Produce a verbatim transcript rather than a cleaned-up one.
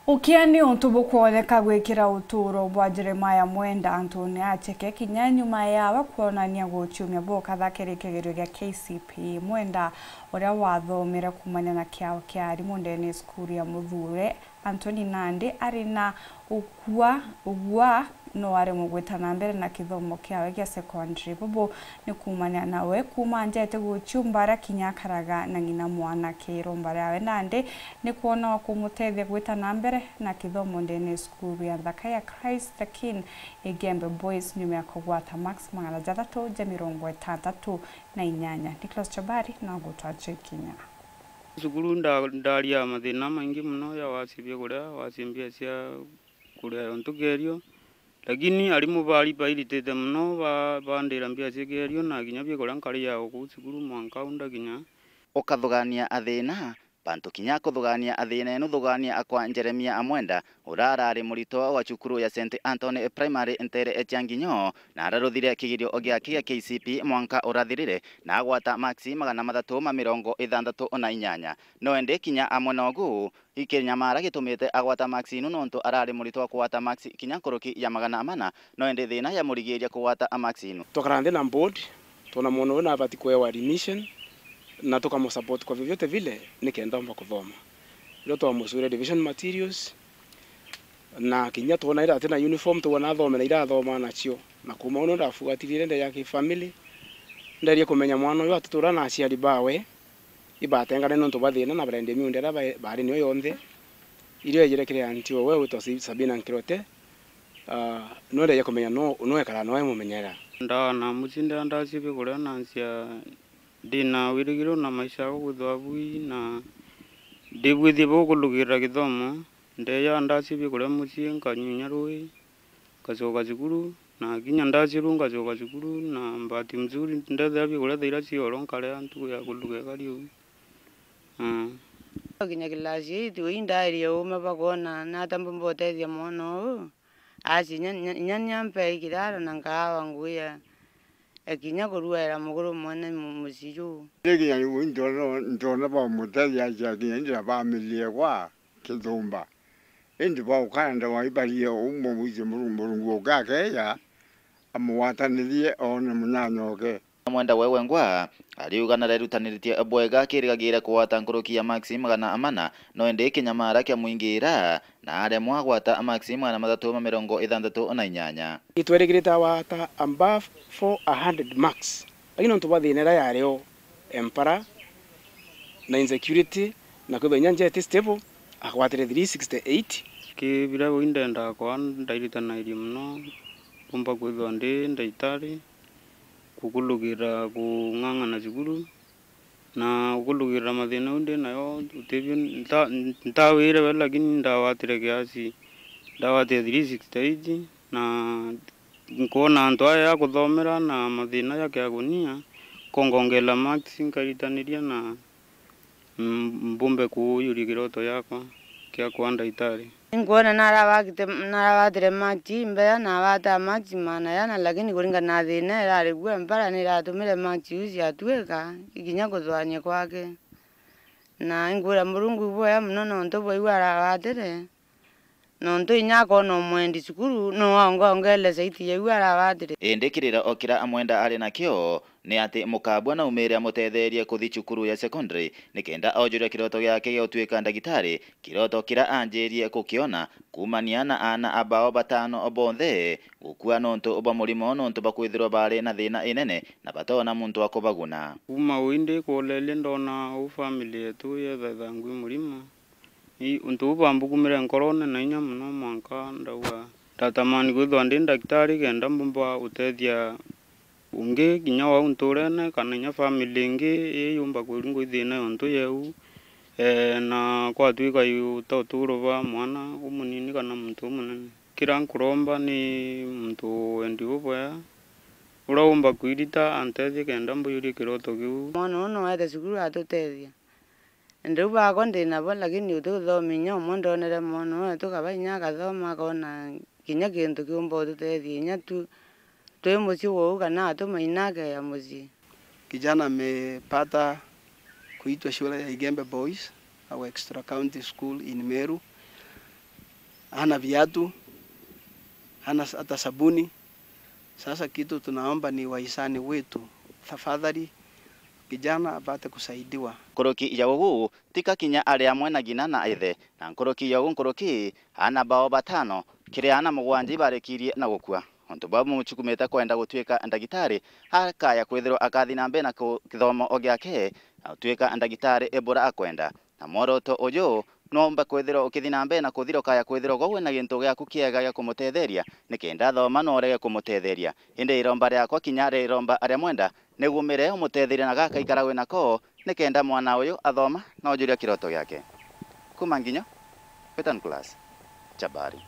Ukia ni untu bukwoneka gwikira utuuro bwa Jeremiah Mwenda antune acheke kinya nyuma yawe kwonania guciumia bukatha kiri kigerio gia K C P E. Mwenda, uria wathomere kuumania na kiao kia arimu ndene ya cukuru ya Muthure, Anthony nandi ari na ukua, ugua no aremwe gwita na mbere na kithomo kiawe gia secondary. Bubu ni kuumania nawe kuuma anjete guciumba aria kinya akaraga na ng'ina mwanake. Iromba riawe nandi ni kwona wa kumutethia gwita na mbere na kithomo ndene ya cukuru ya nthaka ya Christ the King Igembe Boys nyuma ya kugwata marks magana jathatu ja mirongo itantatu na inyanya. Nicholas Chabari na gutwacha ikinya. Cukuru nda-, ndaria mathina maingi mono ya wasi bia kuria, wasi mbia cia kuria untu kerio, lakini arimu bari bairitite mono ba-, bandira mbia cia kerio na kinya bia kuria nkaria o kuu cukuru mwanka au ndakinya. Ukathugania athina, bantu kinya kuthugania athina enu thugania akwa Jeremia Amwenda, uria arari muritwa wa cukuru ya Saint Anthony Primary ntere cia Nginyo, na araruthire kigerio giake gia K C P E mwanka urathirire, na agwata maksi magana mathatu ma mirongo ithanthatu na inyanya. No indi kinya amwe nogu, ikinyamara gitumite agwata maksi inu nontu arari muritwa wa kugwata maksi kinya nkuruki ya magana mana, no indi thina yamurigiria kugwata maksi inu. Twakara nthi na board, twona mwana uyu nabati kuewa admission, na tukamusupport kwa vyovyote vile nikenda omba kuthoma. Riu twamucurire revision materials, na kinya twona ira ati na uniform, twona athome na ira athoma nacio. Na kuuma uu ndafuatirire ndeja ki family, nderie kumenya mwana uyu atutura na aciari bawe ibatengane nontu bwa thina na barendia miunda iria ba-, bari nio yonthe. Irio ejire kiri anti owe witwa Si-, Sabina Nkirote, ah, nwendeje kumenya no, nwekara noe mumenyera. Ndaa na mucii ndia ndacie bia kuria na nsia ndi na wirigiro na maisha jakwa kwithwa bui na ndibwithie bukulugirira githomo. Ndeja ndacie bia kuria mucii, nkanyunya rui, ngacoka cukuru, na kinya ndacie ruu ngacoka cukuru, na bahati mzuri ndethira bia kuria thaa iria cia oro nkaria ntuku ya kuluga ikari uu. Mm. Kinya class eight, uu indairie uume bwa kwona nata mbumba utethia mwana uu. Aci inya, inya, inya niampe kirara na nkaawa ngugi ya, ya kinya kurugaira muguru mwene mu-, mucii juu. Ndi kinya riu ndona, ndona bamutethia acia kinya ndira bamiliegwa kithumba. Indi baukaenda waibarie umwe wicie Murungu, Murungu uke akeja, amugwatanirie oone munyanya oke. Mwenda we wengwa ariuga narerutaniritie bwega akirigagiira kugwata nkuruki ya maksi magana mana, no indi kinyamara kiamwingiira na aremwa agwata maksi magana mathatu ma mirongo ithanthatu na inyanya. Itwerigirite agwata above four hundred marks, lakini nontu bwa thina iria yari o, empara na insecurity, na kwithwa inya njeti stable, agwatire three sixty eight. Ki biria bui ndendaa kwaa, ndairitanagiria mono, mbumba kwithwa ndi ndagitari, kukulugirira kung'ang'ana cukuru, na kukulugirira mathina jau ndi nayo, utibio nta-, ntawire we, lakini ndagwatire kiasi, ndagwatire three sixty eight, na nkwona antu aya ya kuthomera na mathina ja kiagunia, nkongongela marks, nkairitaniria na, mm, mbumbe kuuyuria kiroto giakwa kia kwaa ndagitari. Inkwona narabagite-, naragwatire marks imbea, nagwata marks magana jana, lakini kuringana na thina irari kuo, empara niratumire marks iu ciatuika ikinya kuthwania kwake. Na inkwira Murungu ibwega mono nontu bwa iu aragwatire. Nontu inya akoona umwendi cukuru, no aongongeele saiti ya iu arabatire. Indi kirira o kiria Amwenda ari nakio ni ati mukabua na umire amutetheerie kuthi cukuru ya secondary nikenda ojuria kiroto giake gia gutuika ndagitari, kiroto kiria anjirie kukiona kuumania na aana abao batano bonthe gukua nontu bwa murimo, nontu bwa kwithirwa baari na thina inene na batoona muntu wa kubaguna. Kuuma uu indi kuoleerie ndona uu family yetu yetha ithangui murimo. Ii, untu buu bwambukumire nkorone na inya mono, mwanka ndauga, ndatamani kwithwa ndi ndagitari kenda mbumba utethia ungi kinya wau nturene, kana inya family ingi ii yumba kuringwa i thina yontu yeu, ee, na kwatwika yu ta uturo bwa mwana umunini kana muntu umunene. Kiria nkuromba ni muntu wendi bubwega, uria umba kwirita antethie kenda mbuyurie kiroto kiu. Mwana uu no ete cukuru atutethia. Indi riu bakwa ndi nabo, lakini utikuthoma inya umwe ndonere mwana uu, tukaba inya akathoma, akona kinya kintu kiumba ututethia inya tu, twi mucii wou kana atuma inya akeya mucii. Kijana amepata kuitwa shule ya Igembe Boys au Extra County School in Meru. hana viatu, hana s-, hata sabuni. Sasa kitu tunaomba ni wahisani wetu, tafadhali kijana apate kusaidiwa. Nkuruki ya ugu, tika kinya ari amwe na ngina na ithe, na nkuruki ya ugu nkuruki, aana bao batano, kiri aana mugwanja ibarikirie na gukua. Untu bau bumuchukumite kwenda gutwika ndagitari, akaya kwithirwa akathi na mbere na ku-, kithomo o giake, na gutwika ndagitari ibura akwenda. Na mworoto uju, noomba kwithirwa ukithi na mbere na kuthira ukaya kwithirwa gwe wina gintu giaku kiega gia kumutetheria, nikenda athoma na urege kumutetheria. Indi iromba riakwa kinya riromba aria mwenda, nigumire umutetheria na gaka ikara wi nako, nikenda mwana uyu athoma na ujuria kiroto giake. Kuma Nginyo, Western Class, Chabari.